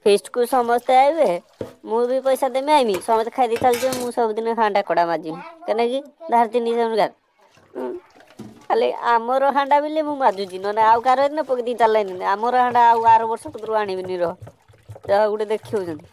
ଫିଷ୍ଟକୁ ସମସ୍ତେ ଆଇବେ, ମୁଁ ବି ପଇସା ଦେମି ଆଇମି, ସମସ୍ତେ ଖାଇଦେଇ ଚାଲିଯିବେ। ମୁଁ ସବୁଦିନ ହାଣ୍ଡା କଡ଼ା ମାଜିମି କାହିଁକି ଧାର 300। ଖାଲି ଆମର ହାଣ୍ଡା ବୋଲି ମୁଁ ମାଜୁଛି, ନହେଲେ ଆଉ କାହାର ହେଇଥିଲେ ପକେଇ ଦେଇ ଚାଲିଲାନି। ଆମର ହାଣ୍ଡା ଆଉ ଆର ବର୍ଷ କତରୁ ଆଣିବିନି, ରହ ଯାହା ଗୋଟେ ଦେଖିଉଛନ୍ତି।